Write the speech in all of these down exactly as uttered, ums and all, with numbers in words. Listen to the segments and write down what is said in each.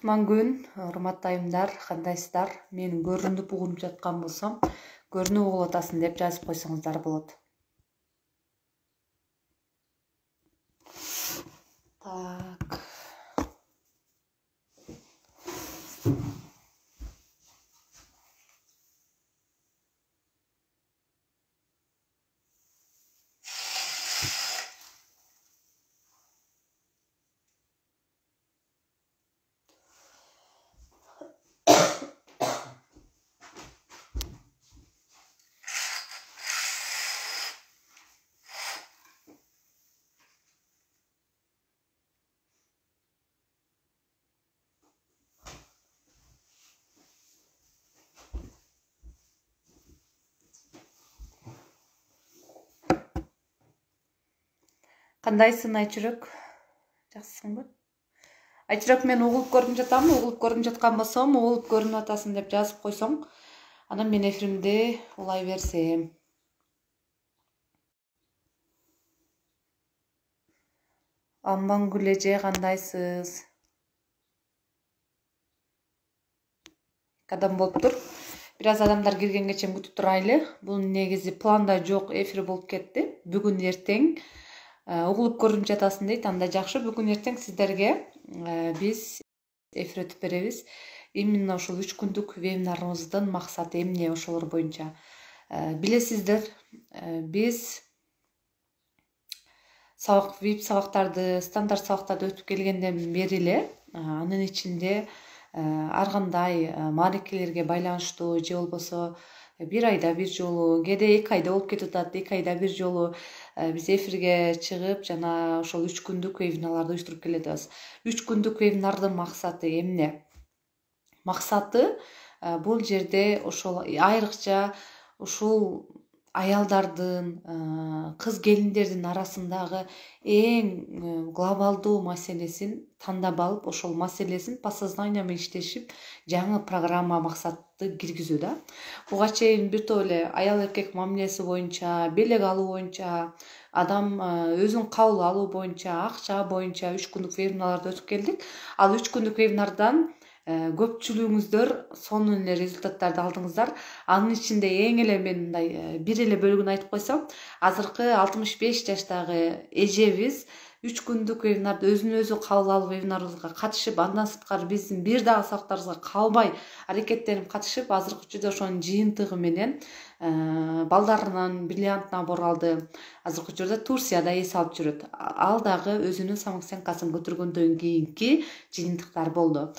Кутман күн, урматтуу айымдар, кандайсыздар? Менин көрүнүп угунуп жаткан болсом, көрүнүп угуп атасың деп жазып койсоңуздар болот. Так. Кандайсың Айчүрөк? Жакшысыңбы? Айчүрөк, мен угулуп көрүнүп жатамбы? Угулуп көрүнүп жаткан болсом, угулуп көрүнүп атасың деп жазып койсоң, анан мен эфиримди улай берсем. Амангүл эже, кандайсыз? Кадан болуптур? Бир аз адамдар киргенге чейин күтүп турайлы. Бул негизи планда жок эфир болуп кетти. Бүгүн эртең угулуп көрүнүп жатасың дейт. Анда жакшы. Бүгүн эртең сиздерге биз эфир өтүп беребиз. Именно ушул үч күндүк вебинарыбыздын максаты эмне ошолор боюнча. Билесиздер, биз сабак вип сабактарды, стандарт сабактарды өтүп келгенден бери эле анын ичинде ар кандай маарекелерге байланыштуу же болбосо бир айда бир жолу, кээде эки айда болуп кетип атат, эки айда бир жолу биз эфирге чыгып, жана ошол үч күндүк вебинарларды уюштуруп келатабыз. үч күндүк вебинардын максаты эмне? Максаты бул жерде ошол айрыкча ушул аялдардын, кыз келиндердин арасындагы эң глобалдуу маселесин тандап алып, ошол маселесин по сознанию менен иштешип, жаңы программа максатты киргизүү да. Буга чейин бир топ эле аял эркек мамилеси боюнча, белек алуу боюнча, адам өзүн кабыл алуу боюнча, акча боюнча үч күндүк вебинарларды өтүп келдик. Ал үч күндүк вебинардан көпчүлүгүңүздөр сонун эле результаттарды алдыңыздар. Анын ичинде эң эле мен мындай бир эле бөлүгүн айтып койсом, азыркы алтымыш беш жаштагы эжебиз үч күндүк вебинарды өзүн өзү кабыл алуу вебинарыбызга катышып, андан сырткары биздин бир дагы сабактарыбызга калбай аракеттенип катышып, азыркы учурда ошонун жыйынтыгы менен балдарынын бриллиант набор алды. Азыркы учурда Турцияда эс алып жүрөт. Ал дагы өзүнүн самооценкасын көтөргөндөн кийинки жыйынтыктар болду.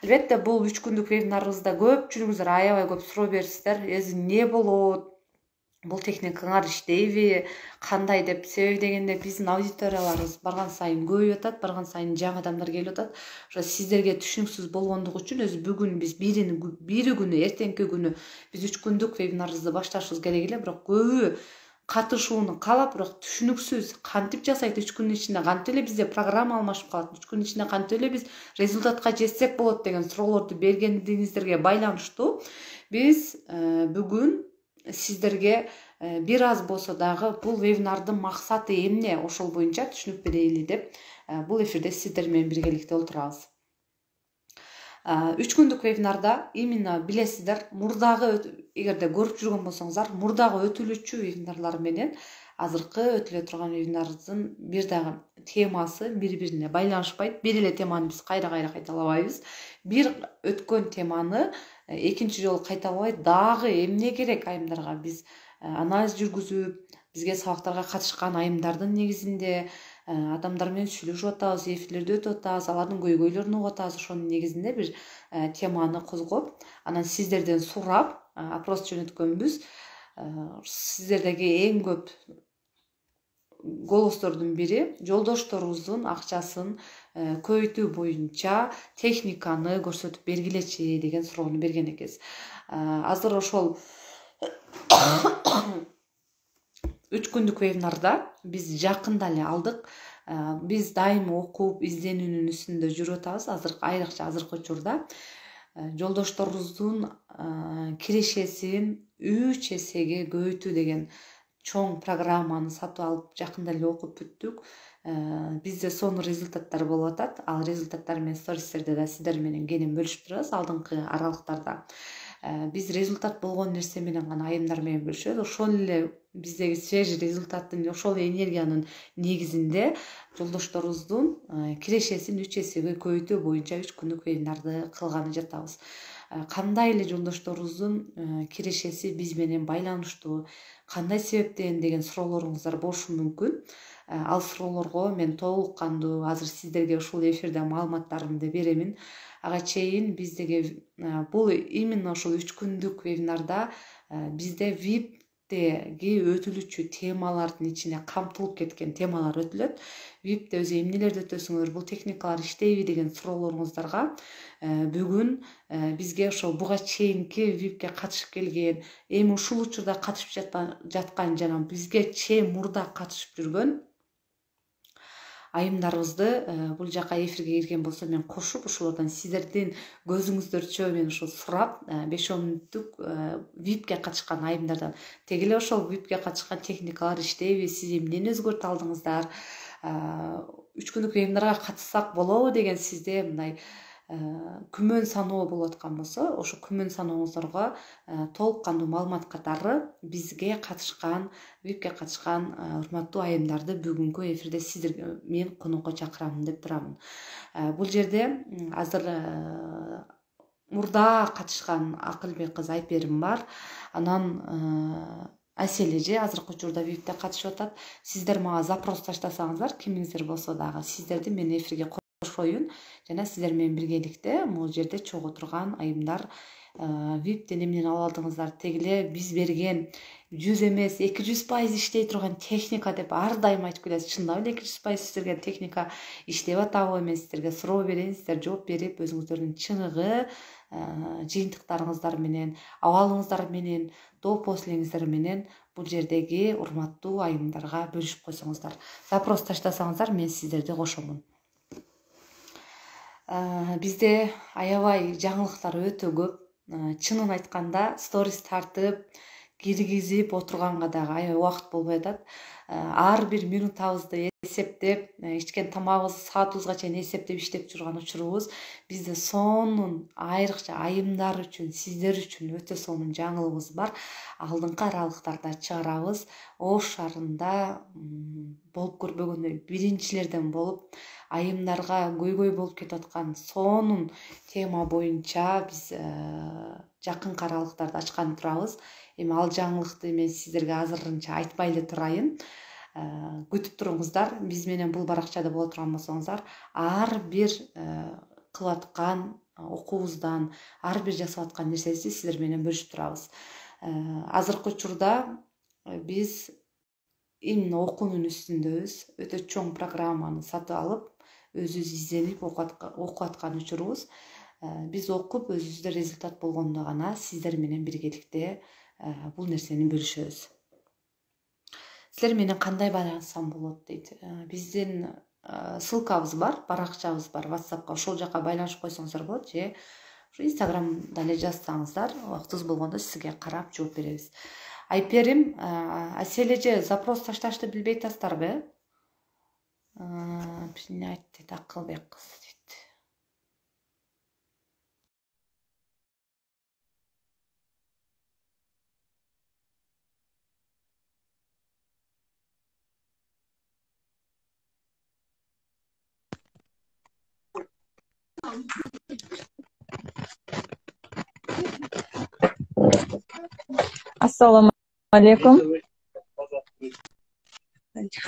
Албетте, бул үч күндүк вебинарыбызда көпчүлүгүңүздөр аябай көп суроо берипсиздер. Эзи эмне болот? Бул техникаңар иштейби? Кандай деп? Себеби дегенде биздин аудиторияларыбыз барган сайын көбөйүп атат, барган сайын жаңы адамдар келип атат. Ошо сиздерге түшүнүксүз болгондугу үчүн өзү бүгүн биз бирин бири күнү, эртеңки күнү биз үч күндүк вебинарыбызды башташыбыз керек эле, бирок көбү катышууну каалап, бирок түшүнүксүз кантип жасайт, үч күндүн ичинде кантип эле бизде программа алмашып калат, үч күндүн ичинде кантип эле биз результатка жетсек болот деген суроолорду бергендигиңиздерге байланыштуу биз бүгүн сиздерге бир аз болсо дагы бул вебинардын максаты эмне ошол боюнча түшүнүк берели деп бул эфирде сиздер менен биргеликте олтурабыз. үч күндүк вебинарда именно билесиздер, мурдагы эгерде көрүп жүргөн болсоңуздар, мурдагы өтүлүчү вебинарлар менен азыркы өтүлө турган вебинарыбыздын бир дагы темасы бири-бирине байланышпайт. Бир эле теманы биз кайра-кайра кайталабайбыз. Бир өткөн теманы экинчи жолу кайталабай, дагы эмне керек айымдарга биз анализ жүргүзүп, бизге сабактарга катышкан айымдардын негизинде адамдар менен сүйлөшүп атабыз, эфирлерди өтүп атабыз, алардын көйгөйлөрүн угуп атабыз. Ошонун негизинде бир теманы козгоп, анан сиздерден сурап, опрос жөнөткөнбүз. Сиздердеги эң көп голостордун бири жолдошторубуздун акчасын көбөйтүү боюнча техниканы көрсөтүп бергилечи деген суроону берген экенсиз. Азыр ошол үч күндүк вебинарда биз жакында эле алдык. Биз дайым окуп, изденүүнүн үстүндө жүрүп атабыз. Азыр айрыкча азыркы учурда жолдошторубуздун кирешесин үч эсеге көбөйтүү деген чоң программаны сатып алып, жакында эле окуп бүттүк. бизде сонун результаттар болуп атат. Ал результаттар менен стористерде да сиздер менен кенен бөлүшүп турабыз алдыңкы аралыктарда. Биз результат болгон нерсе менен гана, айымдар менен бөлүшөбүз. Ошол эле биздеги свежий результаттын, ошол энергиянын негизинде жолдошторубуздун кирешесин үч эсеге көбөйтүү боюнча үч күндүк вебинарды кылганы жатабыз. Кандай эле жолдошторубуздун кирешеси биз менен байланыштуу, кандай себептен деген суроолоруңуздар болушу мүмкүн. Ал суроолорго мен толук кандуу азыр сиздерге ушул эфирде маалыматтарымды беремин. Ага чейин биздеги бул именно ушул үч күндүк вебинарда бизде виптеги өтүлүчү темалардын ичине камтылып кеткен темалар өтүлөт. випте өзү эмнелерди өтөсүңөр, бул техникалар иштейби деген суроолоруңуздарга бүгүн бизге ошол буга чейинки випке катышып келген, эми ушул учурда катышып жаткан жана бизге чейин мурда катышып жүргөн айымдарыбызды бул жака эфирге кирген болсо мен кошуп, ошолордон сиздердин көзүңүздөрчө мен ушул сурап, беш он мүнөттүк випке катышкан айымдардан теги эле ошол випке катышкан техникалар иштейби, сиз эмнени өзгөртө алдыңыздар, үч күндүк вебинарга катышсак болобу деген сизде мындай күмөн саноо болуп аткан болсо, ошо күмөн санооңуздарга толук кандуу маалымат катары бизге катышкан, випке катышкан урматтуу айымдарды бүгүнкү эфирде сиздерге мен конокко чакырамын деп турамын. Бул жерде азыр мурда катышкан Акылбек кыз Айперим бар. Анан Асель эже азыркы учурда випте катышып атат. Сиздер мага запрос таштасаңыздар, кимиңиздер болсо дагы сиздерди мен эфирге кошоюн жана сиздер менен биргеликте могул жерде чогуу турган айымдар виптен эмнени ала алдыңыздар, теги эле биз берген жүз эмес эки жүз пайыз иштей турган техника деп ар дайым айтып келесиз. Чындап эле эки жүз пайыз сиздерге техника иштеп атабы, мен сиздерге суроо берейин, сиздер жооп берип өзүңүздөрдүн чыныгы жыйынтыктарыңыздар менен, абалыңыздар менен, допус элеңиздер менен бул жердеги урматтуу айымдарга бөлүшүп койсоңуздар. Запрос таштасаңыздар, мен сиздерди кошомун. Бизде аябай жаңылыктар өтө көп. Чынын айтканда сторис тартып, киргизип отурганга дагы аябай убакыт болбой атат. Ар бир минутабызды эсептеп, ичкен тамагыбызды саатыбызга чейин эсептеп иштеп жүргөн учурубуз. Бизде сонун айрыкча айымдар үчүн, сиздер үчүн өтө сонун жаңылыгыбыз бар. Алдыңкы аралыктарда чыгарабыз. Ош шаарында болуп көрбөгөндөй биринчилерден болуп, айымдарга көйгөй болуп кетип аткан сонун тема боюнча биз жакынкы аралыктарды ачкан турабыз. Эми ал жаңылыкты мен сиздерге азырынча айтпай эле турайын. Күтүп туруңуздар. Биз менен бул баракчада боло турган болсоңуздар, ар бир кылып аткан окуубуздан, ар бир жасап аткан нерсебизди сиздер менен бөлүшүп турабыз. Азыркы учурда биз именно окуунун үстүндөбүз. Өтө чоң программаны сатып алып, өзүбүз изденип окуп аткан учурубуз. Биз окуп, өзүбүздө результат болгондо гана сиздер менен биргеликте бул нерсени бөлүшөбүз. Силер менен кандай байланыссам болот дейт. Биздин ссылкабыз бар, баракчабыз бар WhatsAppка. Ошол жака байланышып койсоңуздар болот же Instagramда эле жазсаңыздар, убактыбыз болгондо сизге карап жооп беребиз. Айперим, Асель эже запрос ташташты билбей атасыздарбы? Эмне айтты дейт Акылбек кыз дейт. Assalomu alaykum.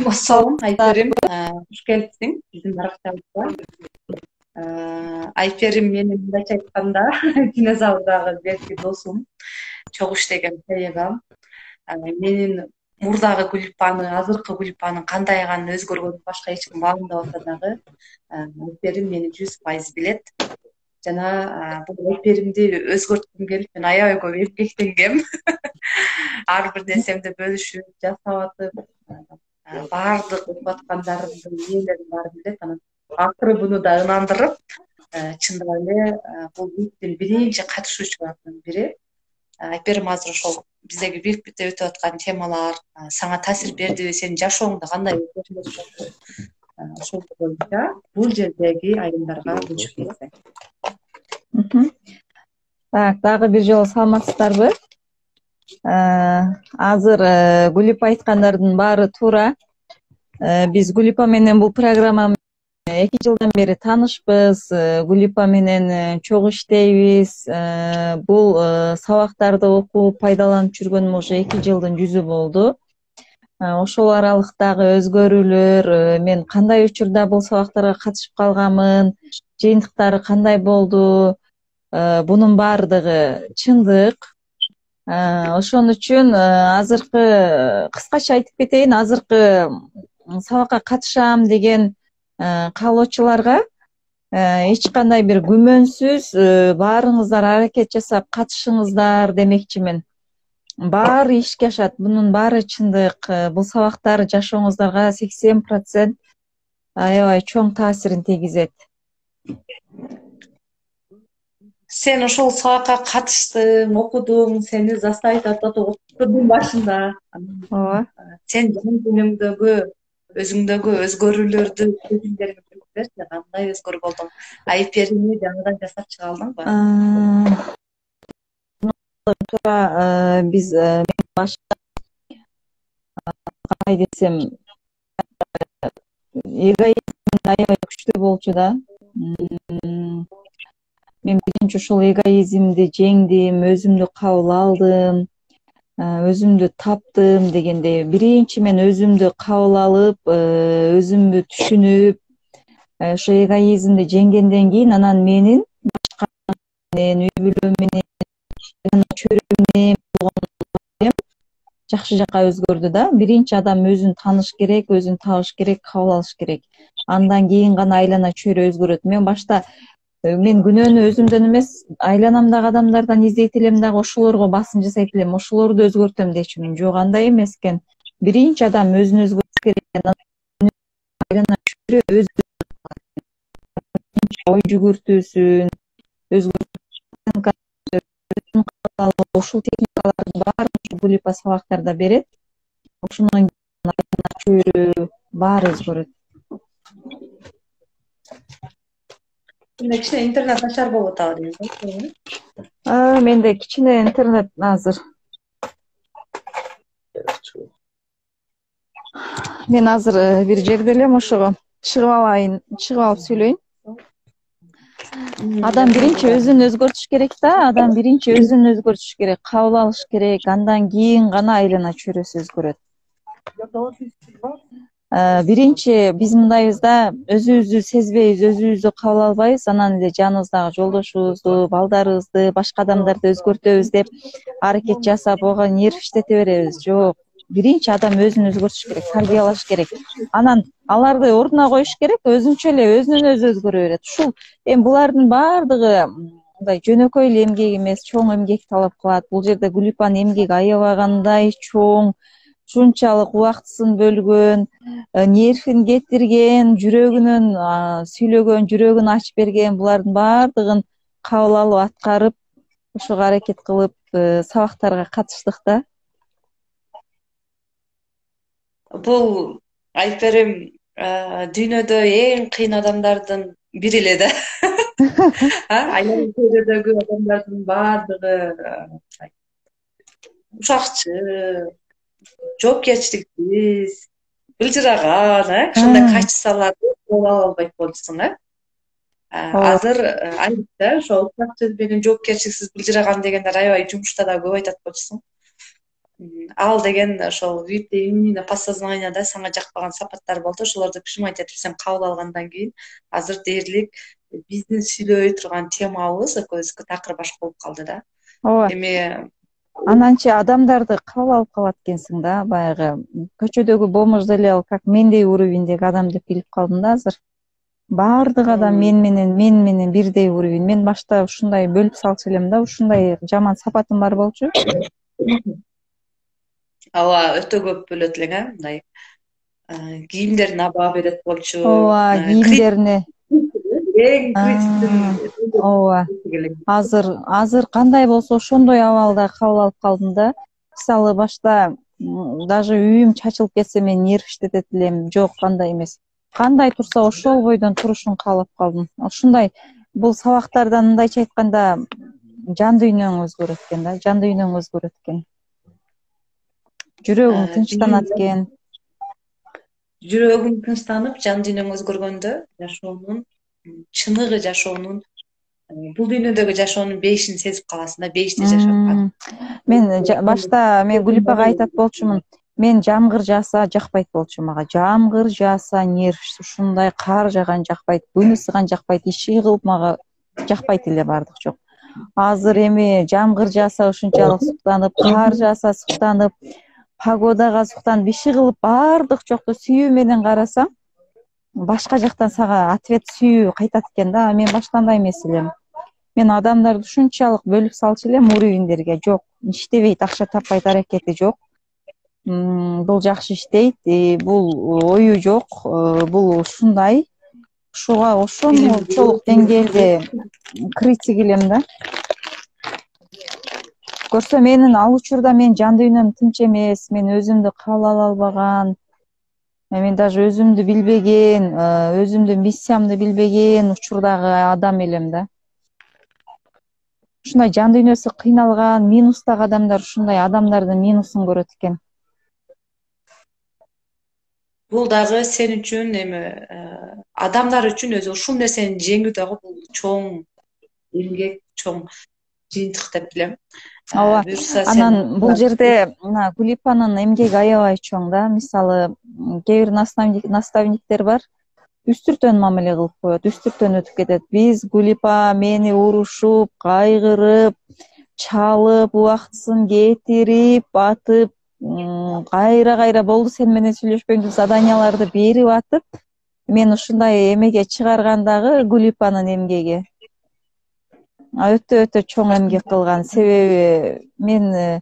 Assalomu Айперим, хуш келипсиң биздин баракчабызга. Айперим менин мындайча айтканда динозаврдагы берки досум, чогуу иштеген коллегам. Менин мурдагы Гүлпаны, азыркы Гүлпанын кандай экенин өзгөргөнүн башка эч ким маалымдап атпасагы, Айперим мени жүз пайыз билет. Жана бул Айперимди өзгөрткүм келип, мен аябай көп эмгектенгем. Ар бир нерсемди бөлүшүп, жасап атып, баардык окуп аткандарымдын ээлерин баарын билет. Анан акыры буну да ынандырып, чындап эле бул виптин биринчи катышуучуларынын бири. Айперим азыр ошол биздеги випте өтүп аткан темалар сага таасир бердиби, сенин жашооңдо кандай өзгөрүштөр ошол боюнча бул жердеги айымдарга көчүп кетсек. Так, дагы бир жолу саламатсыздарбы? Азыр Гүлипа айткандардын баары туура. Биз Гүлипа менен бул программа эки жылдан бери таанышпыз. Гүлипа менен чогуу иштейбиз. Бул сабактарды окуп пайдаланып жүргөнүмө уже эки жылдын жүзү болду. Ошол аралыктагы өзгөрүүлөр, мен кандай учурда бул сабактарга катышып калганмын, жыйынтыктары кандай болду, бунун баардыгы чындык. Ошон үчүн азыркы кыскача айтып кетейин, азыркы сабакка катышам деген каалоочуларга эч кандай бир күмөнсүз баарыңыздар аракет жасап катышыңыздар демекчимин. Баары ишке ашат, бунун баары чындык. Бул сабактар жашооңуздарга сексен процент аябай чоң таасирин тийгизет. Сен ошол сабакка катыштың, окудуң, сени заставить этип окуттурдун башында. Ооба. Сен жан дүнүңдөгү, өзүңдөгү өзгөрүүлөрдү көзүңдөрүңө көрүп берчи, кандай өзгөрүү болду? Айперини жаңыдан жасап чыга алдыңбы? Туура, биз башка кандай десем, эгоизм аябай күчтүү болчу да. Мен биринчи ушул эгоизмди жеңдим, өзүмдү кабыл алдым, өзүмдү таптым дегендей. Биринчи мен өзүмдү кабыл алып, өзүмдү түшүнүп, ошо эгоизмди жеңгенден кийин анан менин башка менен, үй бүлөм менен, чөйрөм менен болгон жакшы жакка өзгөрдү да. Биринчи адам өзүн тааныш керек, өзүн табыш керек, кабыл алыш керек. Андан кийин гана айлана чөйрө өзгөрөт. Мен башта мен күнөөнү өзүмдөн эмес, айланамдагы адамдардан издейт элем дагы, ошолорго басым жасайт элем, ошолорду өзгөртөм дечүмүн. Жок, андай эмес экен. Биринчи адам өзүн өзгөртүш керек. Айлана чөйрө өзү ой жүгүртүүсүн өзгөртүп, ушул техникалардын баарын Гүлипа сабактарда берет. Ошондон кийин айлана чөйрө баары өзгөрөт. Кичине интернет начар болуп атабы дейм. Менде кичине интернет азыр. Мен азыр бир жерде элем, ошого чыгып алайын, чыгып алып сүйлөйүн. Адам биринчи өзүн өзгөртүш керек да, адам биринчи өзүн өзгөртүш керек, кабыл алыш керек, андан кийин гана айлана чөйрөсү өзгөрөт. Биринчи биз мындайбыз да, өзүбүздү сезбейбиз, өзүбүздү кабыл албайбыз, анан эле жаныбыздагы жолдошубузду, балдарыбызды, башка адамдарды өзгөртөбүз деп аракет жасап, ого нерв иштете беребиз. Жок, биринчи адам өзүн өзгөртүш керек, тарбиялаш керек. Анан аларды ордуна коюш керек, өзүнчө эле өзүнөн өзү өзгөрө берет. Ушул эми булардын баардыгы мындай жөнөкөй эле эмгек эмес, чоң эмгек талап кылат. Бул жерде Гүлипанын эмгеги аябай кандай чоң, ушунчалык убактысын бөлгөн, нервин кетирген, жүрөгүнөн сүйлөгөн, жүрөгүн ачып берген, булардын баардыгын кабыл алып аткарып, ошого аракет кылып сабактарга катыштык да. Бул Айперим дүйнөдө эң кыйын адамдардын бири эле да. Айлана чөйрөдөгү адамдардын баардыгы ушакчы, жоопкерчиликсиз, былжыраган, ошондой качестволорду колго ала албайт болчусуң, э? Азыр айрыкча ошо ушакчы менен жоопкерчиликсиз, былжыраган дегендер аябай жумушта да көп айтат болчусуң. Ал деген ошол випте именно подсознанияда сага жакпаган сапаттар болду. Ошолорду прижимать этип сен кабыл алгандан кийин азыр дээрлик биздин сүйлөй турган темабыз экөөбүздүкү такыр башка болуп калды да. Ооба. Эми Ананчы адамдарды кабыл алып калат экенсиң да, баягы көчөдөгү бомж деле ал как мендей уровеньдеги адам деп билип калдым да азыр. Баардык адам мен менен, мен менен бирдей уровень. Мен башта ушундай бөлүп салчу элем да, ушундай жаман сапатым бар болчу. Ооба, өтө көп бөлөт элең, э, мындай кийимдерине баа берет болчу. Ооба, кийимдерине. Эң критиктүү. Ооба. Азыр, азыр кандай болсо ошондой абалда кабыл алып калдым да. Мисалы башта даже үйүм чачылып кетсе мен нерв иштетет элем. Жок, андай эмес. кандай турса ошол бойдон турушун каалап калдым. Ушундай бул сабактардан мындайча айтканда жан дүйнөң өзгөрөт экен да, жан дүйнөң өзгөрөт экен. Жүрөгүң тынчтанат экен. Жүрөгүң тынчтанып, жан дүйнөң өзгөргөндө жашоонун чыныгы, жашоонун бул дүйнөдөгү жашоонун бейишин сезип каласың да, бейиште жашап. Мен башта мен Гүлипага айтат болчумун. Мен жамгыр жааса жакпайт болчу мага. Жамгыр жааса нерв, ушундай кар жааган жакпайт, күн ысыган жакпайт, иши кылып мага жакпайт эле бардык жок. Азыр эми жамгыр жааса ушунчалык суктанып, кар жааса суктанып, погодага суктанып, иши кылып бардык жокто сүйүү менен карасаң, башка жактан сага ответ сүйүү кайтат экен да. Мен башта андай эмес элем. Мен адамдарды ушунчалык бөлүп салчу элем уровеньдерге. Жок, иштебейт, акча таппайт, аракети жок. Бул жакшы иштейт, бул ою жок, бул ушундай. Ушуга ошончолук деңгээлде критик элем да. Көрсө менин ал учурда мен жан дүйнөм тынч эмес, мен өзүмдү кабыл ала албаган, мен даже өзүмдү билбеген, өзүмдүн миссиямды билбеген учурдагы адам элем да. Ушундай жан дүйнөсү кыйналган, минустагы адамдар ушундай адамдардын минусун көрөт экен. Бул дагы сен үчүн эми адамдар үчүн өзү ушул нерсени жеңүү дагы бул чоң эмгек, чоң жыйынтык деп билем. Ооба. Анан бул жерде мына Гүлипанын эмгеги аябай чоң да. Мисалы, кээ бир наставниктер бар, үстүртөн мамиле кылып коет, үстүртөн өтүп кетет. Биз Гүлипа мени урушуп, кайгырып, чалып, убактысын кетирип, атып, кайра-кайра болду сен менен сүйлөшпөйм деп заданияларды берип атып, мен ушундай эмеге чыгарган дагы Гүлипанын эмгеги. Өтө-өтө чоң эмгек кылган. Себеби мен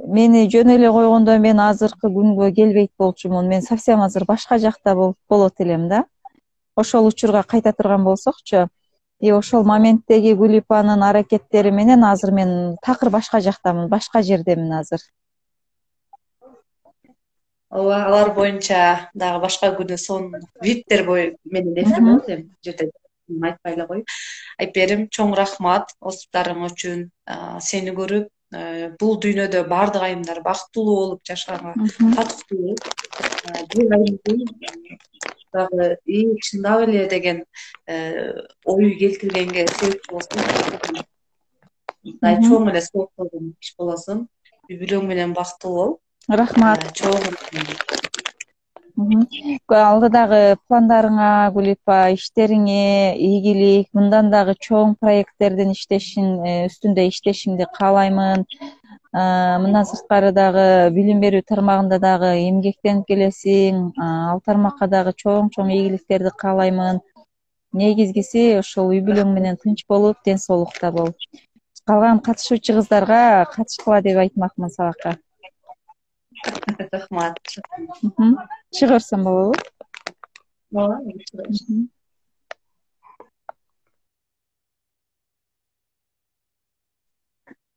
мени жөн эле койгондо мен азыркы күнгө келбейт болчумун. Мен совсем азыр башка жакта болот элем да. Ошол учурга кайта турган болсокчу, и ошол моменттеги Гүлипанын аракеттери менен азыр мен такыр башка жактамын, башка жердемин азыр. Ооба, алар боюнча дагы башка күнү сонун виптер бою менен эфир болот эми жерде айтпай эле коеюн. Айперим, чоң рахмат оозуптарың үчүн. Сени көрүп, бул дүйнөдө баардык айымдар бактылуу болуп жашаганга татыктуу. Бул айымдын дагы и чындап эле деген ою келтиргенге себепчи болсун. Чоң эле сооп койгон иш болосуң. Үй бүлөң менен бактылуу бол. Рахмат. Чоң. Алдыдагы пландарыңа, Гүлипа, иштериңе ийгилик, мындан дагы чоң проекттердин иштешин, үстүндө иштешиңди каалаймын. Мындан сырткары дагы билим берүү тармагында дагы эмгектенип келесиң. Ал тармакка дагы чоң-чоң ийгиликтерди каалаймын. Негизгиси ошол үй бүлөң менен тынч болуп, ден соолукта бол. Калган катышуучу кыздарга катышкыла деп айтмакмын сабакка. Рахмат. Чыга берсем болобу? Ооба.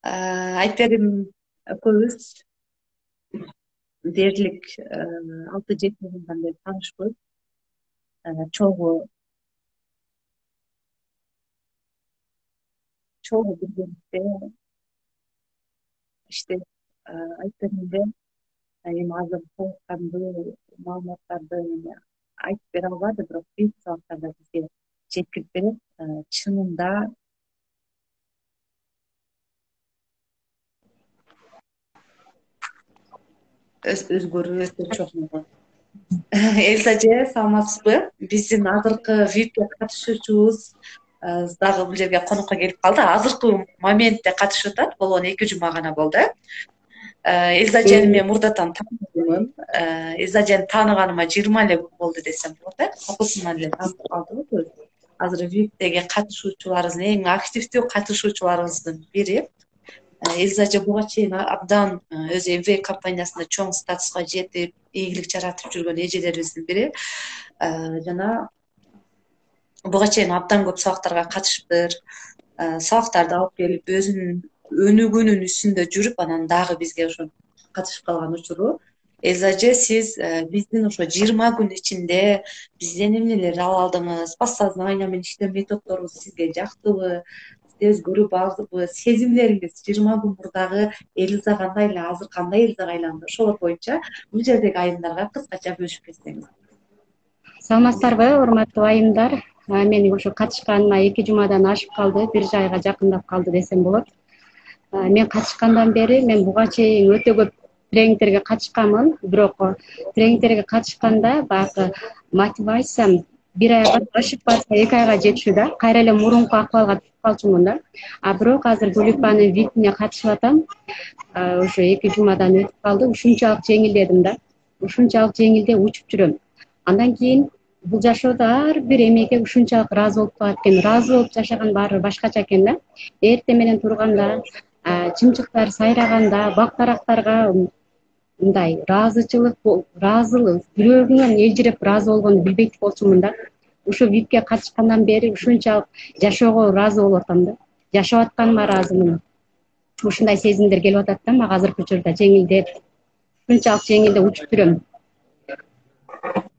Айперим экөөбүз дээрлик алты жети жылдан бери таанышпыз. Чогуу чогуу биргеликте иштеп Айперимде эми азыр толуккандуу маалыматтарды айтып бере албады, бирок бир сабактарда бизге жеткирип берет. Чынында өзгөрүү өтө чоң. Элза эже, саламатсызбы? Биздин азыркы випке катышуучубуз дагы бул жерге конокко келип калды. Азыркы моментте катышып атат. Болгону эки жума гана болду. Элза эжени мен мурдатан тааныдым. Элза эжени тааныганыма жыйырма эле күн болду десем болот, э? Окуусунан эле таанып калдык. Азыр виптеги катышуучуларыбыздын эң активдүү катышуучуларыбыздын бири. Элза эже буга чейин абдан өзү эм ви эй компаниясында чоң статуска жетип, ийгилик жаратып жүргөн эжелерибиздин бири. Жана буга чейин абдан көп сабактарга катышыптыр. Сабактарды алып келип, өзүнүн өнүгүүнүн үстүндө жүрүп, анан дагы бизге ошо катышып калган учуру. Элза эже, сиз биздин ошо жыйырма күн ичинде бизден эмнелер ала алдыңыз? Подсознание менен иштөө методдорубуз сизге жактыбы? Сизди өзгөрүү бардыбы? Сезимдериңиз жыйырма күн мурдагы Элза кандай эле, азыр кандай Элзага айланды? Ошолор боюнча бул жердеги айымдарга кыскача бөлүшүп кетсеңиз. Саламатсыздарбы, урматтуу айымдар? Мен ошо катышканыма эки жумадан ашып калды, бир айга жакындап калды десем болот. Мен катышкандан бери мен буга чейин өтө көп тренингтерге катышканмын, бирок тренингтерге катышканда баягы мотивациям бир айга ашып барса эки айга жетишүү да, кайра эле мурунку акыбалга түшүп калчумун да. А бирок азыр Гулипанын випине катышып атам. Ошо эки жумадан өтүп калды, ушунчалык жеңилдедим да. Ушунчалык жеңилдеп учуп жүрөм. Андан кийин бул жашоодо ар бир эмеге ушунчалык ыраазы болуп калат экен. Ыраазы болуп жашаган баары башкача экен да. Эртең менен турганда, чымчыктар сайраганда, бак дарактарга мындай ыраазычылык, ыраазылык, жүрөгүңөн элжиреп ыраазы болгонду билбейт болчумун да. Ушу випке катышкандан бери ушунчалык жашоого ыраазы болуп атам да. Жашап атканыма ыраазымын. Ушундай сезимдер келип атат да мага азыркы учурда, жеңилдеп. Ушунчалык жеңилдеп учуп жүрөм.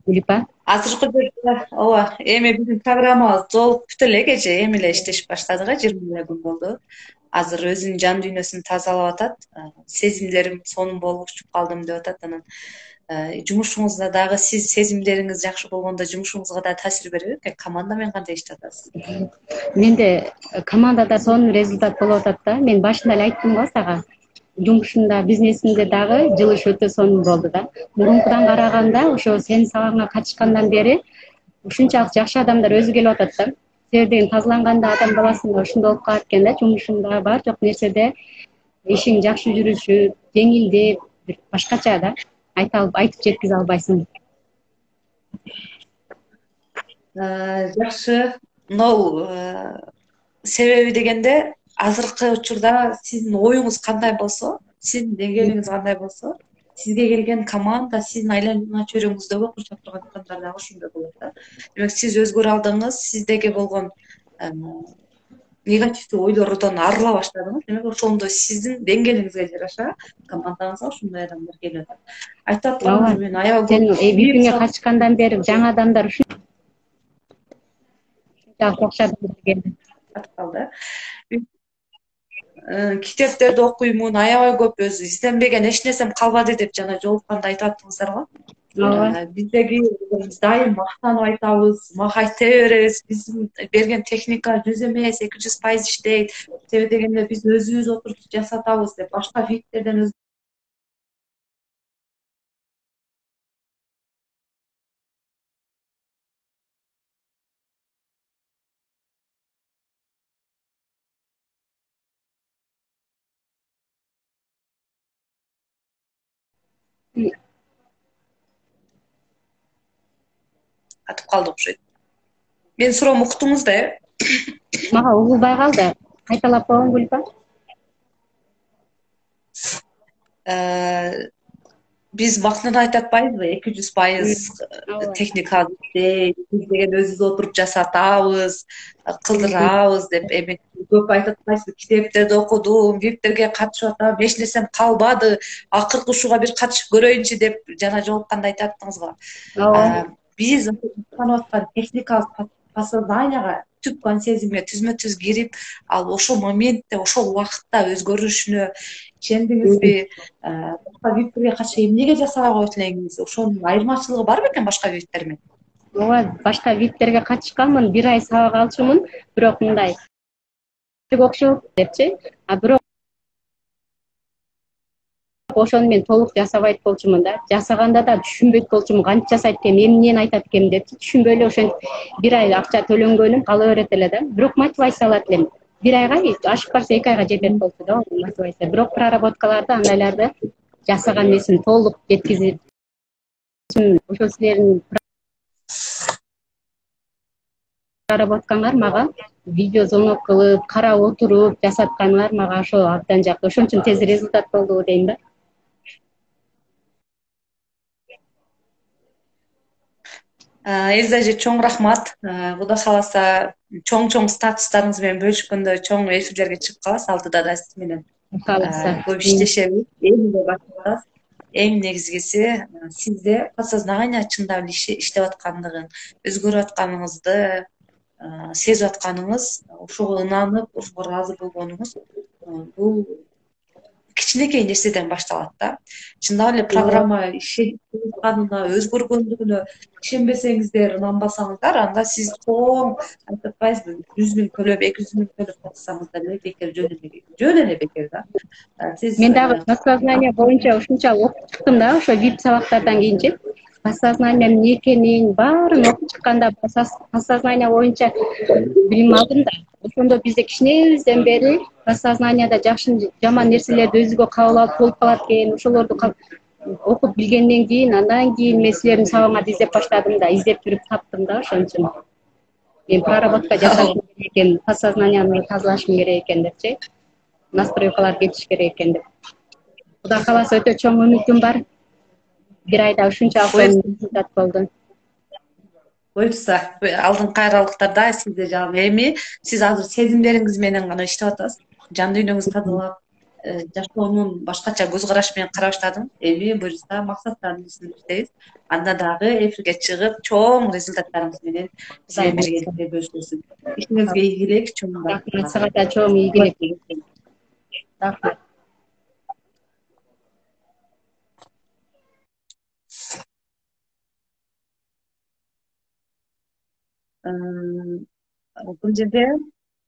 Гулипа. Азыркы жерде ооба, эми биздин программабыз жолугуп бүт элек эже, эми эле иштешип баштадык, жыйырма эле күн болду. Азыр өзүнүн жан дүйнөсүн тазалап атат. Сезимдерим сонун болуп учуп калдым деп атат. Анан жумушуңузда дагы сиз сезимдериңиз жакшы болгондо жумушуңузга да таасир берет экен. Команда менен кантип иштеп атасыз? Менде командада сонун результат болуп атат да. Мен башында эле айттым го сага. Жумушумда, бизнесимде дагы жылыш өтө сонун болду да. Мурункудан караганда ошо сенин сабагыңа катышкандан бери ушунчалык жакшы адамдар өзү келип атат да. Себеби деген тазаланганда адам баласында ушундай болуп калат экен да, жумушунда бар жок нерседе ишиң жакшы жүрүшүп, жеңилдеп, бир башкача да. Айтып айтып жеткизе албайсың. Жакшы. Мынау себеби дегенде азыркы учурда сиздин оюңуз кандай болсо, сиздин деңгээлиңиз кандай болсо, сизге келген команда, сиздин айлана чөйрөңүздөгү курчап турган адамдар дагы ошондой болот да. Демек сиз өзгөрө алдыңыз, сиздеги болгон негативдүү ойлордон арыла баштадыңыз. Демек ошондой сиздин деңгээлиңизге жараша командаңызга ошондой адамдар келип атат. Айтып атканым мен аябай көп випиңе катышкандан бери жаңы адамдар ушунчалык окшоп келди. Калды. Китептерди окуймун, аябай көп өзү изденбеген эч нерсем калбады деп жана жолукканда айтып аттыңыздар го. Ооба. Биздеги биз дайым мактанып айтабыз, мага айта беребиз. Биздин берген техника жүз эмес, эки жүз пайыз иштейт. Себеби дегенде биз өзүбүз отуруп жасатабыз деп башка виптерден атып калды окшойт. Мен суроомду уктуңуз да, э? Мага угулбай калды. Кайталап койгон Гулипа. Биз макнада айтып атпайбызбы, эки жүз пайыз техника иштейт, биз деген өзүбүз отуруп жасатабыз, кылдырабыз деп. Эми көп айтып атпайсызбы, китептерди окудум, виптерге катышып атам, эч нерсем калбады, акыркы ушуга бир катышып көрөйүнчү деп жана жолукканда айтып аттыңыз го. Биз жасанып аткан техникалык подсознанияга түпкөн сезимге түзмө түз кирип, ал ошол моментте, ошол убакытта өзгөрүшүнө ишендиңизби? Башка виптерге катышып эмнеге жасабай коет элеңиз? Ошонун айырмачылыгы бар бекен башка виптер менен? Ооба, башка виптерге катышканмын, бир ай сабак алчумун, бирок мындай окшоп депчи. А бирок ошону мен толук жасабайт болчумун да. Жасаганда да түшүнбөйт болчумун, кантип жасайт экен, эмнени айтат экен депчи. Түшүнбөй эле ошентип бир ай акча төлөнгөнүм кала берет эле да. Бирок мотивация алат элем. Бир айга ашып барса эки айга жетет болчу да мотивация. Бирок проработкаларды андайларды жасаган эмесмин, толук жеткизип. Ошо силердин проработкаңар мага видео звонок кылып, карап отуруп жасатканыңар мага ошо абдан жакты. Ошон үчүн тез результат болду дейм да. Элза эже, чоң рахмат. Кудай кааласа чоң-чоң статустарыңыз менен бөлүшкөндө чоң эфирлерге чыгып каласыз, алдыда да сиз менен. Кааласа. Көп иштешебиз, эми эле башташабыз. эң негизгиси сизде подсознание чындап эле иштеп аткандыгын, өзгөрүп атканыңызды сезип атканыңыз, ошого ынанып, ошого ыраазы болгонуңуз бул кичинекей нерседен башталат да. Чындап эле программа ишенип атканына, өзгөргөндүгүнө ишенбесеңиздер, ынанбасаңыздар, анда сиз чоң айтып атпайсызбы, жүз миң төлөп, эки жүз миң төлөп катышсаңыз деле бекер, жөн эле жөн эле бекер да. Сиз мен дагы подсознание боюнча ушунчалык окуп чыктым да, ошо вип сабактардан кийинчи подсознание эмне экенин баарын окуп чыкканда подсознание боюнча билим алдым да. Ошондо бизде кичинебизден бери подсознаниеда жакшы жаман нерселерди өзүгө кабыл алып болуп калат экен. Ошолорду окуп билгенден кийин, андан кийин мен силердин сабагыңарды издеп баштадым да, издеп жүрүп таптым да, ошон үчүн мен проработка жасашым керек экен, подсознаниямды тазалашым керек экен депчи, настройкалар кетиш керек экен деп. Кудай кааласа өтө чоң үмүтүм бар. Бир айда ушунчалык результат болду. Буюрса, алдыңкы кайралыктарда сизде жагы эми сиз азыр сезимдериңиз менен гана иштеп атасыз. Жан дүйнөңүздү тазалап, жашоонун башкача көз карашы менен карай баштадым. Эми буюрса максаттардын үстүндө иштейбиз. Анда дагы эфирге чыгып, чоң результаттарыңыз менен биз менен бирге бөлүшөсүз. Ишиңизге ийгилик, чоң рахмат. Сага да чоң ийгилик. Рахмат. Бул жерде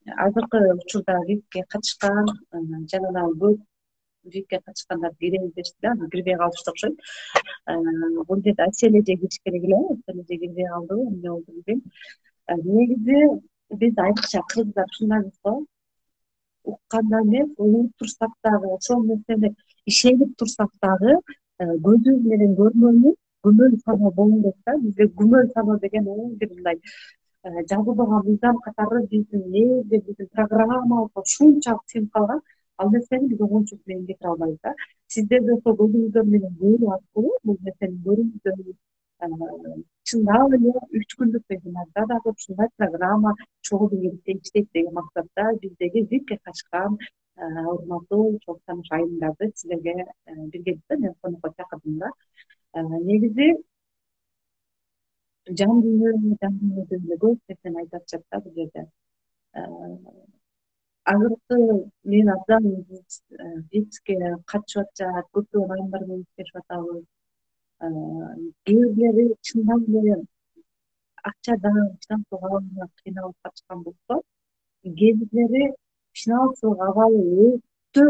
азыркы учурда випке катышкан жана көп випке катышкандар киребиз дешти да, кирбей калышты окшойт. Бул жерде Асель эже кириш керек эле, Асель эже кирбей калды, эмне болду билбейм. Негизи биз айрыкча кыргыздар ушундайбыз го, укканда эмес, угуп турсак дагы, ошол нерсени ишенип турсак дагы көзүбүз менен көргөнү күмөн саноо боло берет да. Бизде күмөн саноо деген ол бир мындай жазылбаган мыйзам катары биздин негизде биздин программабызга ушунчалык сиңип калган, ал нерсени биз оңойчулук менен кетире албайбыз да. Сиздер да ошол көзүңүздөр менен көрүү аркылуу бул нерсени көрүңүздөр, чындап эле үч күндүк вебинарда дагы ушундай программа чогуу биргеликте иштейт деген максатта биздеги випке катышкан урматтуу чоң тааныш айымдарды силерге биргеликте мен конокко чакырдым да. Негизи жан дүйнө, жан дүйнөдө эле көп нерсени айтып атышат да бул жерде. Азыркы мен абдан випске катышып атышат, көптөгөн айымдар менен иштешип атабыз. Кээ бирлери чындап эле акчадан, финансылык абалынан кыйналып катышкан болсо, кээ бирлери финансылык абалы өтө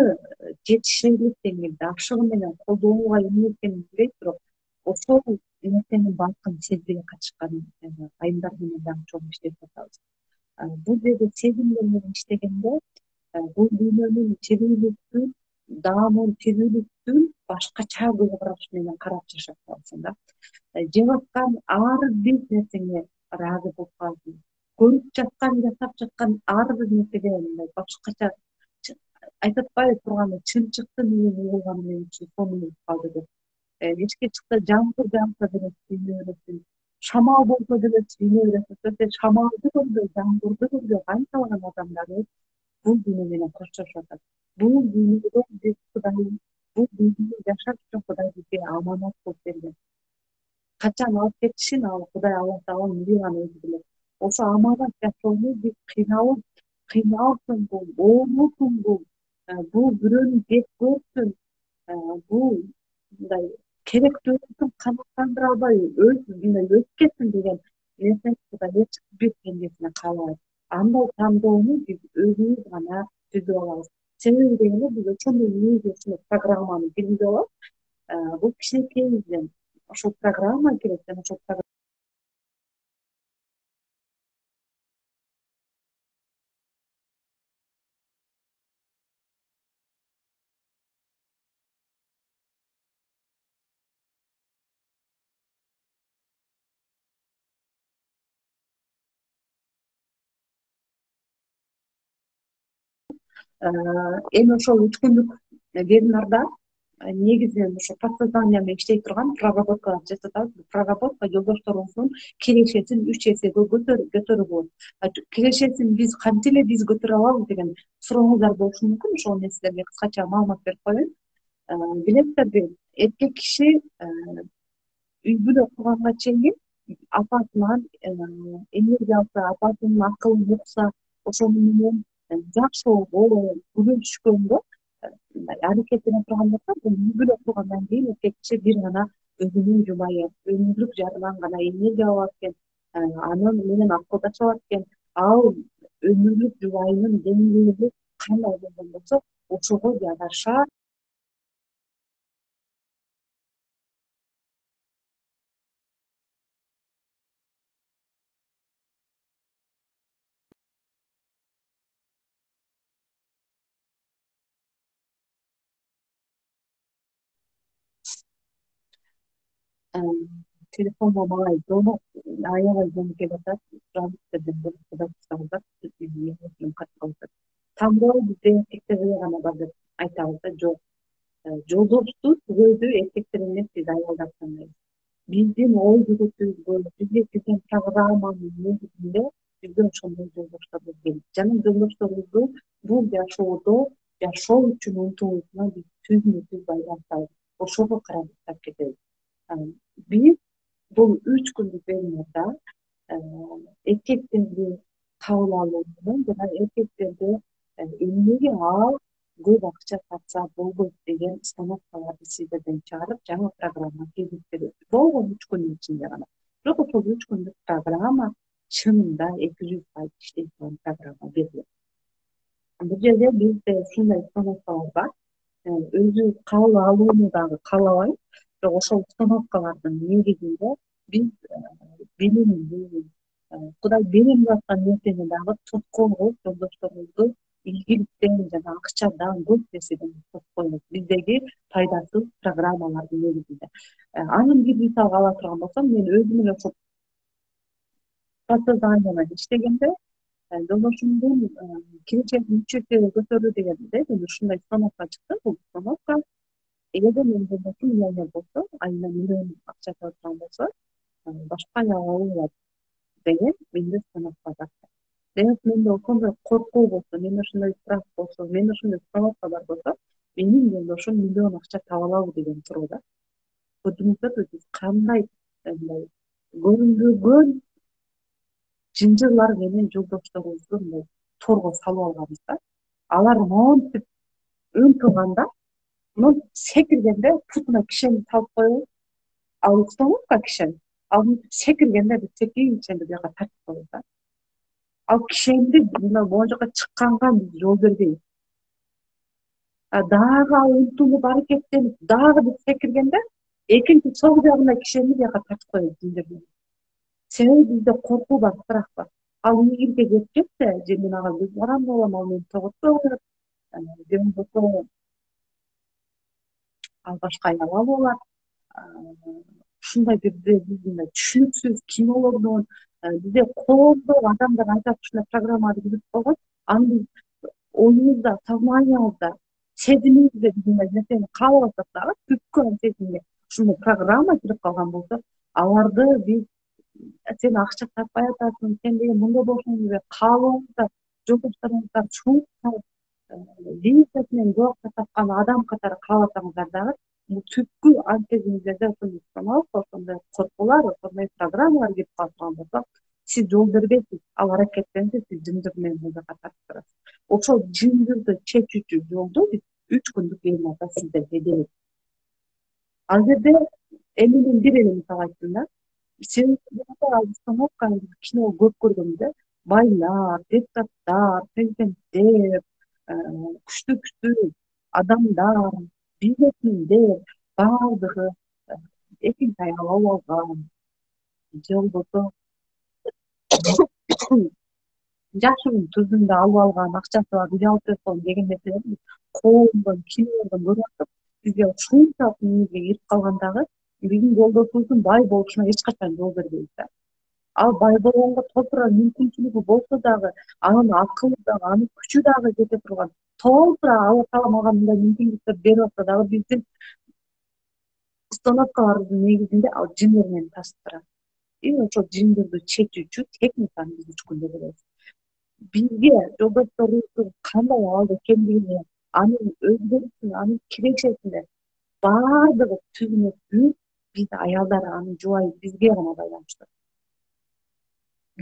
жетиширлик деңгээлде ашыгы менен колдонууга эмнеткенин билбейт, бирок ошол нерсенин баркын сезбей катышкан айымдар менен дагы чоң иштешип атабыз. Бул жерде сезимдер менен иштегенде бул дүйнөнүн тирүүлүктүн, даамын, тирүүлүктүн башкача көз караш менен карап жашап каласың да. Жеп аткан ар бир нерсеңе ыраазы болуп каласың. Көрүп жаткан, жашап жаткан ар бир нерсеге мындай башкача айтып атпайбы турганы, чын чыкты менен угулганы менен сону болуп калды деп. Эчке чыкты жамгыр жааса деле сүйүнө бересиң, шамал болсо деле сүйүнө бересиң. Сен шамалды көргөй, жамгырды көргөй, канчалаган адамдар бул дүйнө менен коштошуп атат. Бул дүйнөдө биз Кудай, бул дүйнөдө жашаш үчүн Кудай бизге аманат болуп берген. Качан алып кетишин ал Кудай Аллах Таала өзү гана өзү билет. Ошо аманат жашоону биз кыйналып, кыйналсын бул, оорусун бул, бул бирөөнү жеп көрсүн, бул мындай керектүүсүн канааттандыра албай өз мындай өсүп кетсин деген нерсени Кудай эч бир пендесине каалабайт. Андай тандоону биз өзүбүз гана түзүп алабыз. Себеби дегенде биз ошондой негизи ушул программаны киргизип алабыз. Бул кичинекейден ошол программа керек жана ошол эми ошол үч күндүк вебинарда негизинен ошо подсознание менен иштей турган проработкалар жасап атабыз. Проработка жолдошторубуздун кирешесин үч эсеге көтөрүү болот. Кирешесин биз кантип эле биз көтөрө алабыз деген сурооңуздар болушу мүмкүн. Ошол менен силерге кыскача маалымат берип коеюн. билесиздерби, эркек киши үй бүлө курганга чейин апасынан энергия алса, апасынын акылын укса, ошону менен жакшылоо күбөлүшкөнгө аракеттене турган болсо, бул үй бүлө кургандан кийин эркек киши бир гана өзүнүн жубайы, өмүрлүк жарынан гана энергия алат экен, анын менен акылдаша алат экен. Ал өмүрлүк жубайынын деңгээли кандай болгон болсо, ошого жараша телефонго малай жоно аябай жоно келип атат. Тандоо бизде эркектерде гана бар деп айтабыз да, жок. Жолдошту түгөйдү эркектер эмес, биз аялдар тандайбыз. Биздин ой жүгүтүбүзгө, бизге кирген программанын негизинде бизде ошондой жолдоштор келет. Жана жолдошторубузду бул жашоодо жашоо үчүн умтулуусуна биз түзмө түз байлантабыз. Ошого карап кетебиз. Биз бул үч күндүк вебинарда эркектерди кабыл алуу менен жана эркектерди эмнеге ал көп акча тапса болбойт деген установкаларды сиздерден чыгарып, жаңы программа киргизип беребиз. Болгон үч күндүн ичинде гана. Бирок ошол үч күндүк программа чынында эки жүз пайыз иштей турган программа берилет. Бул жерде бизде ушундай установкалар бар. Өзү кабыл алууну дагы каалабайм. Бирок ошол установкалардын негизинде биз билимди, Кудай берем деп аткан нерсени дагы тоскоол кылып, жолдошторубузду ийгиликтен жана акчадан, көп нерседен тоскоойбуз. Биздеги пайдасыз программалардын негизинде. Анын бир мисалга ала турган болсом, мен өзүм эле ошол подсознание менен иштегенде, жолдошумдун киречегин үч эсеге көтөрүү дегенде, мен ушундай установка чыкты. Бул установка эгерде менин жолдошум миллионер болсо, айына миллион акча таба турган болсо, башка аял алуу болот деген менде установка бар. Демек менде ошондой коркуу болсо, менде ошондой страх болсо, менде ошондой установка бар болсо, менин жолдошум миллион акча таба алабы деген суроо да. Көрдүңүздөрбү, биз кандай мындай көрүнбөгөн жынжырлар менен жолдошторубузду мындай торго салып алганбыз да. Алар монтип ынтылганда, монтип секиргенде путуна кишени салып коебуз. Ал установка кишени, ал секиргенде биз секирген кишени бияка тартып коебуз да. Ал кишенди мына могу жака чыкканга биз жол бербейбиз. Дагы ал умтулуп аракеттенип, дагы биз секиргенде экинчи сол жагында кишени бияка тартып коебуз. Себеби бизде коркуу бар, страх бар. Ал ийгиликке кетип кетсе, же мен ага көз каранды болом, ал мени тоготпой коет, же болбосо ал башка аял алып алат. Ушундай бизде бизде түшүнүксүз кинолордон, бизде коомдо адамдар айтат, ушундай программаларды көрүп койгон, аны биз оюбузда, сознаниябызда, сезимибизде биз мындай нерсени каалабасак дагы, түпкү ан сезимге ушундай программа кирип калган болсо, аларды биз сен акча таппай атасың, сен деген мындай болушуң деп каалообузда жолдошторуңуздар шуңуп салып, лизасынан көп акча тапкан адам катары кааласаңыздар дагы, бул түпкү ан сезимиңизде ошондой установка, ошондой коркуулар, ошондой программалар кирип кала турган болсо, сиз жол бербейсиз, ал аракеттенсе, сиз жынжыр менен бул жака тартып турасыз. Ошол жынжырды чечүүчү жолду биз үч күндүк вебинарда сиздерге беребиз. Ал жерде эмнеден бир эле мисал айттым да. Себеби ал установканы биз кино көп көргөнбүз, байлар, депутаттар, президенттер, күчтүү күчтүү адамдар, бизнесмендер баардыгы экинчи аял алып алган, же болбосо жашыгын түздүн да алып алган, акчасы бар, үйдө алып берип койгон деген нерселерди коомдон, кинолордон көрүп атып, бизге ушунчалык миңизге кирип калгандагы биздин жолдошубуздун бай болушуна эч качан жол бербейбиз да. Ал бай болгонго толтура мүмкүнчүлүгү болсо дагы, анын акылы дагы, анын күчү дагы жете турган, толтура Алла Таала мага мындай мүмкүнчүлүктөр берип атса дагы, биздин установкаларыбыздын негизинде ал жындар менен тасып турат. И ошол жындарды чечүүчү техниканы биз үч күндө беребиз. Бизге жолдошторубуздун кандай абалда экендигине, анын өзгөрүшүн, анын кирешесине баардыгы түбүнө бүт биз аялдар, анын жубайы бизге гана байланыштуу.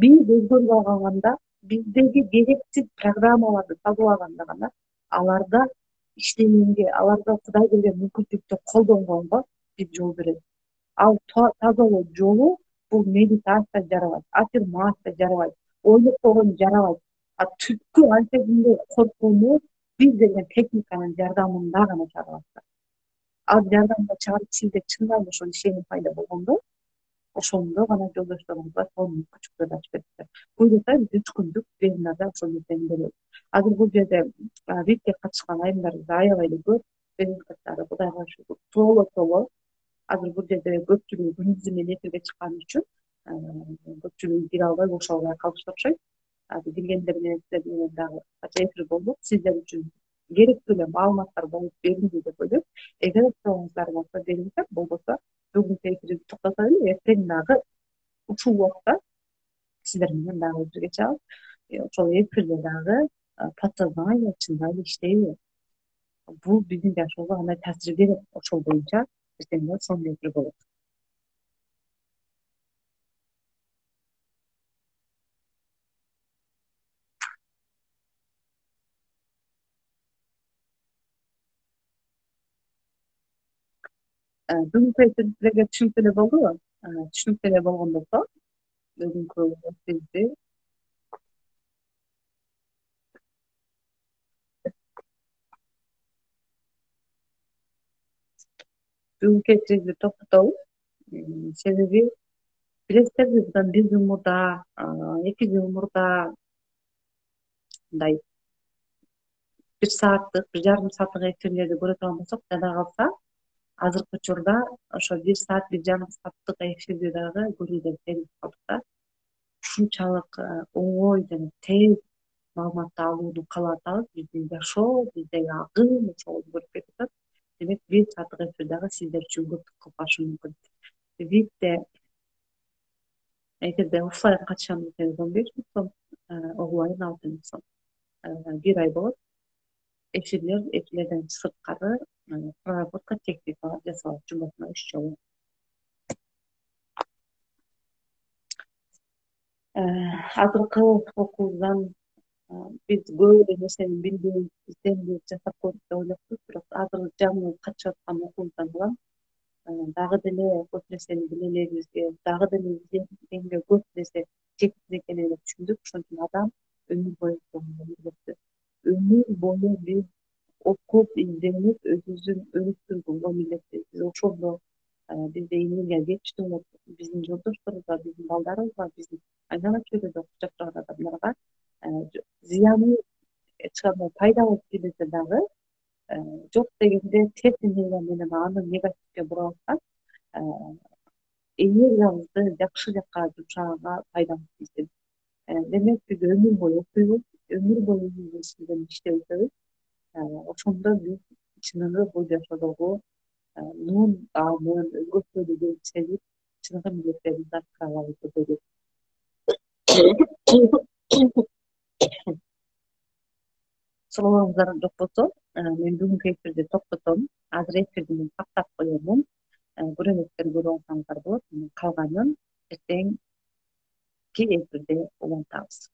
Биз өзгөрбөй калганда, биздеги керексиз программаларды тазалаганда гана аларда иштегенге, аларга Кудай берген мүмкүнчүлүктү колдонгонго биз жол беребиз. Ал тазалоо жолу бул медитация жарабайт, аффирмация жарабайт, ойлоп койгон жарабайт. А түпкү антегинде коркууну биз берген техниканын жардамында гана чыгарабыз. Ал жардамда чыгарып сизде чындап ошол ишеним пайда болгондо, ошондо гана жолдошторуңузга сол мүмкүнчүлүктөрдү ачып бересиздер. Буюрса биз үч күндүк вебинарда ошол нерсени беребиз. Азыр бул жерде випке катышкан айымдарыбыз аябай эле көп, результаттары Кудайга шүгүр толо толо. Азыр бул жерде көпчүлүгү күндүзү менен эфирге чыккан үчүн көпчүлүгү кире албай, кошо албай калышты окшойт. Азыр киргендер менен сиздер менен дагы кача эфир болдук. Сиздер үчүн керектүү эле маалыматтар болуп берилди деп ойлойм. Эгер суроңуздар болсо бериңиздер, болбосо бүгүнкү эфирди токтотот эле, эртең дагы ушул убакта сиздер менен дагы эфирге чыгабыз. Ошол эфирде дагы подсознание чындап эле иштейби? Бул биздин жашоого кандай таасир берет? Ошол боюнча эртең дагы сонун эфир болот. Бүгүнкү эфир силерге түшүнүктүү эле болдубу? Түшүнүктүү эле болгон болсо, бүгүнкү эфирди бүгүнкү эфирди токтотобуз. Себеби билесиздерби, мындан бир жыл мурда, эки жыл мурда мындай бир сааттык, бир жарым сааттык эфирлерди көрө турган болсок, жада калса, азыркы учурда ошо бир саат, бир жарым сааттык эфирди дагы көрүүдөн терилип калдык да. Ушунчалык оңой жана тез маалыматты алууну каалап атабыз. Биздин жашоо, биздеги агым ошол өзгөрүп кетип атат. Демек, бир сааттык эфир дагы сиздер үчүн көптүк кылып калышы мүмкүн. Випте эгерде оффлайн катышам десеңиз он беш миң сом, онлайн алты миң сом. Бир ай болот. Эфирлер, эфирлерден сырткары проработка техникалар жасалат жумасына үч жолу. Азыркы окуубуздан биз көп эле нерсени билдик, изденбек жасап көрдүк деп ойлоппуз, бирок азыр жаңы катышып аткан окуубуздан улам дагы деле көп нерсени биле элебизге, дагы деле изденгенге көп нерсе жеткиз экенин эле түшүндүк. Ошон үчүн адам өмүр бою милдеттүү. Өмүр бою биз окуп, изденип, өзүбүздүн өнүктүрүүгө милдеттүүбүз. Биз ошондо бизде энергия жетиштүү, биздин жолдошторубузга, биздин балдарыбызга, биздин айнала чөйрөдө окуп жашап турган адамдарга зыяны эч кандай пайда болуп келбесе дагы, жок дегенде терс энергия менен аны негативге бура алсак, энергиябызды жакшы жакка жумшаганга пайдабыз тийсин. Демек, биз өмүр бою окуйбуз, өмүр бою өзүбүз иштерди иштеп өтөбүз. Ошондо биз чыныгы бул жашоодогу нун аамын, өзгөчөлүгүн сезип, чыныгы милдеттерибизди аткара алабыз деп ойлойм. Суроолоруңуздар жок болсо, мен бүгүнкү эфирди токтотом. Азыр эфирди мен каттап коемун. Көрөнөктөр көрүп алсаңыздар болот. Калганын эртеңки эфирде улантабыз.